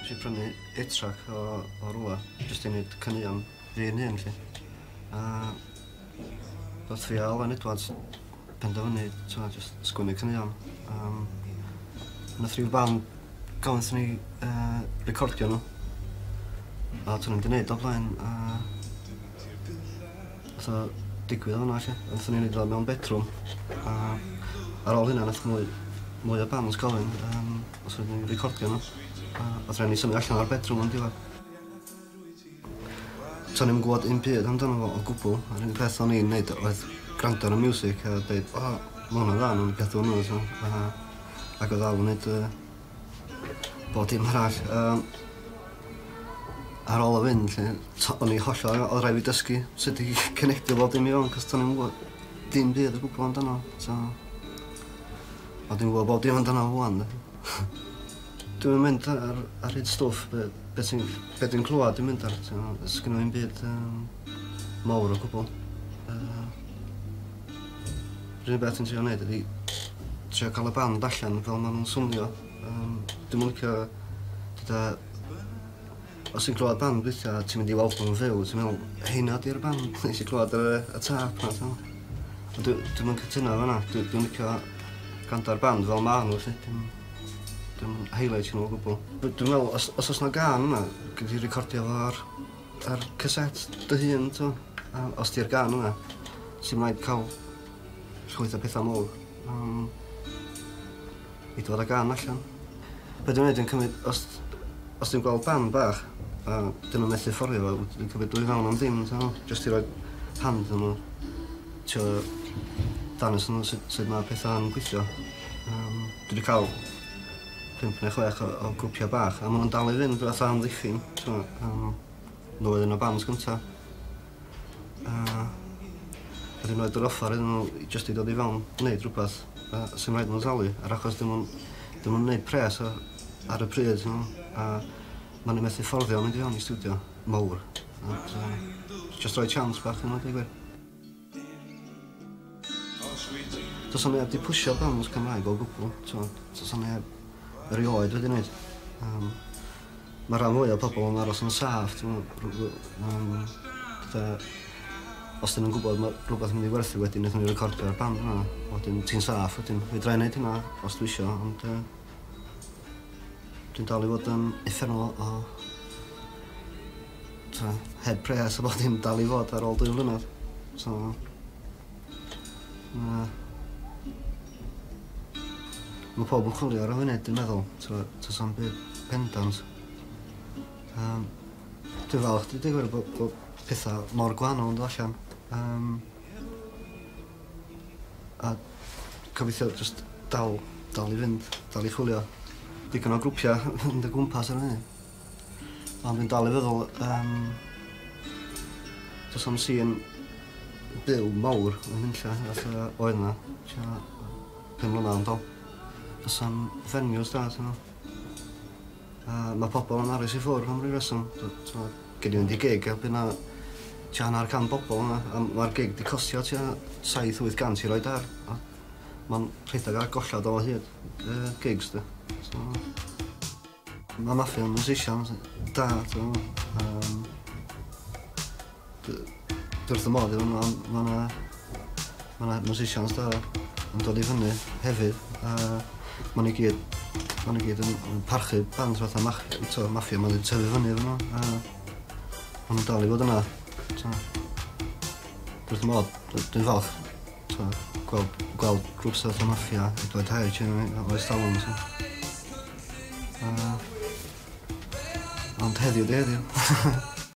Nes i prynu 8-track o rwla, jyst i wneud caneuon fi yn hun, 'lly. A ddoth fi a Alan Edwards penderfynu, t'mo', jyst sgwennu caneuon. Nath ryw band gofyn wrthon ni recordio nhw. A to'n i'm 'di neud o blaen, a nath o digwydd o fan'na 'lly. A nathon ni neud o mewn bedroom, a ar ôl hynna nath mwy o bands gofyn os oedden ni'n recordio nhw. A o'dd raid ni symud allan o'r bedroom yn diwedd. To'n i'm yn gwybod un byd amdano fo o gwbl. Yr unig peth o'n i'n neud oedd gwrando ar y music a deud, "O, ma' hwnna'n dda, nawn ni gadw hwnnw," so, ac oedd Al yn neud bob dim arall. Ar ôl o fynd, 'lly, o'n i hollol, oedd rhaid fi dysgu sut i connectio bob dim i fewn, cos to'n i'm yn gwybod dim byd o gwbl amdano. So, a dwi'n gwybod bob dim amdano fo ŵan, de. Dwi'n mynd ar hyd stwff, be dwi'n clywed dwi'n mynd ar, t'mo', sgynno fi'm byd mawr o gwbl. Yr unig beth dwi'n trio neud ydi trio cael y band allan fel ma' nhw'n swnio. Dwi'm yn licio deda, os ti'n clywed band weithia' ti'n mynd i weld nhw'n fyw, ti'n meddwl, "Heina 'di'r band nes i clywed ar y tâp 'na," t'mo'? Ond dwi'm yn cytuno efo hwnna. Dwi'n licio gwrando ar band fel ma' nhw 'lly. Dim highlight nhw o gwbl. Dwi'n meddwl, os oes 'na gân yna, gei di recordio fo ar cassette dy hun, t'mo'? A os di'r gân yna, sy'n rhaid cael llwyth o pethau mawr i dod â gân allan. Be dwi'n neud, dwi'n cymryd, os dwi'n gweld band bach, a dyn nhw'n methu fforddio fo, dwi'n cymryd dwy fewn am ddim, t'mo'? Jyst i roi hand iddyn nhw, trio dangos nhw sut mae pethau'n gweithio. Dwi wedi cael 5 neu 6 o grwpiau bach, a maen nhw'n dal i fynd fatha Amddiffyn, t'mo', nhw oedd un o bands gynta. A dwi'n rhoid yr offer iddyn nhw jyst i dod i fewn, wneud rhywbeth, a sy'n rhaid nhw'n talu, ar achos dim nhw'n neud pres ar y pryd, t'mo', a maen nhw'n methu fforddio mynd i fewn i stiwdio mawr. Ond, just rhoi chance bach iddyn nhw, deud gwir. Does 'na neb 'di pwsio bands Cymraeg o gwbl, t'mo', does 'na neb erioed wedi wneud. Mae rhan fwy o pobl yn aros yn saff, t'mo', fatha, os dyn nhw'n gwybod mae rhywbeth yn mynd i werthu wedyn, wnaethon ni recordio'r band yna, wedyn ti'n saff, wedyn fedra i wneud hynna os dwi isio, ond dwi'n dal i fod yn uffernol o t'mo', heb pres a bod dim dal i fod ar ôl 2 mlynedd. So, na. Mae pawb yn chwilio ar y funud, dwi'n meddwl. Does na'm byd pendant. Dwi'n falch, dwi'n dweud bod pethau mor gwahanol yn dod allan. A gobeithio jyst dal i fynd, dal i chwilio. Digon o grwpiau yn dy gwmpas ar y funud. Ond dwi'n dal i feddwl, does na'm sîn byw mawr yn nunlla, fatha oedd 'na, tua 5 mlynedd yn dol. Does na'm venues da, t'mo'. A mae pobl yn aros i ffwrdd am ryw reswm. T'mo', gei di fynd i gig a bydd 'na tua 50 bobl yna, a mae'r gig 'di costio tua 700-800 i roid ar. A mae'n rhedeg ar gollad o hyd, gigs, de. So, mae Maffia'n musicians da, t'mo'. Dwi wrth fy modd efo nhw, ond ma' 'na musicians da yn dod i fyny hefyd, a ma' nhw gyd yn parchu band fatha t'mo', Maffia, ma' nhw 'di tyfu fyny efo nhw, a ma' nhw'n dal i fod yna. So, dwi wrth fy modd, dwi'n falch, t'mo', gweld grŵps fatha Maffia, Edward H, oes talwm, so. Ond heddiw 'di heddiw.